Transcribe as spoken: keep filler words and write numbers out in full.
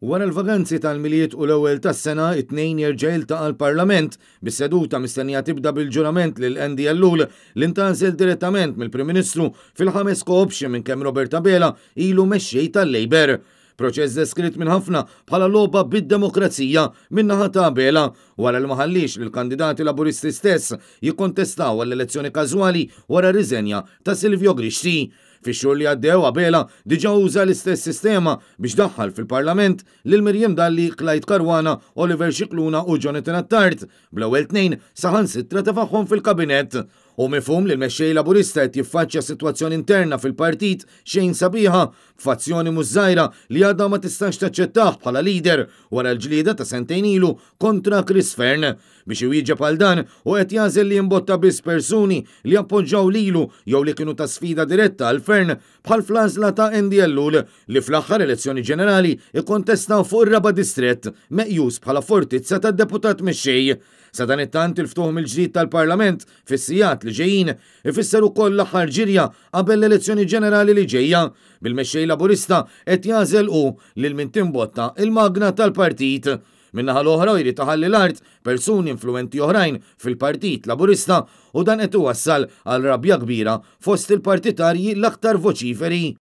Wara l-vaganzi tal-Milied u l-ewwel tas-sena, it-Tnejn jerġa' jiltaqa' l-Parlament, bis-seduta mistennija tibda bil-ġurament lil Andy Ellul li ntgħażel direttament mill-Prim Ministru fil-ħames co-option minn kemm Robert Abela ilu mexxej tal-Labour. Proċess deskritt minn ħafna bħala logħba bid-demokrazija min-naħa ta' Abela wara li ma ħalliex lill-kandidati Laburisti stess jikkontestaw għall-elezzjoni każwali wara r-riżenja ta' Silvio Grixti. Fix-xhur li għaddew Abela diġà uża l-istess sistema biex daħħal fil-Parlament lil Miriam Dalli, Clyde Caruana, Oliver Scicluna u Jonathan Attard, bl-ewwel tnejn saħansitra tefagħhom fil-kabinett. Hu mifhum li l-mexxej Laburista qed jiffaċċja sitwazzjoni interna fil-partit xejn sabiħa, b'fazzjoni mhux żgħira li għadha ma tistax taċċettah bħala leader wara l-ġlieda ta' sentejn ilu kontra Chris Fearne. Biex iwieġeb għal dan, hu qed jagħżel li jimbotta biss persuni li appoġġaw lilu jew li kienu ta' sfida diretta għal Fearne bħal fl-għażla ta' Andy Ellul li fl-aħħar elezzjoni ġenerali ikkontesta fuq ir-raba' distrett meqjus bħala fortizza tad-deputat mexxej. Sadanittant il-ftuħ mill-ġdid tal-Parlament fis-sigħat li ġejjin ifisser ukoll l-aħħar ġirja qabel l-elezzjoni ġenerali li ġejja, bil-mexxej Laburista qed jagħżel hu lil min timbotta il-magna tal-partit. Min-naħa l-oħra jrid iħalli l-art persuni influenti oħrajn fil-Partit Laburista u dan qed iwassal għal rabja kbira fost il-partitarji l-aktar voċiferi.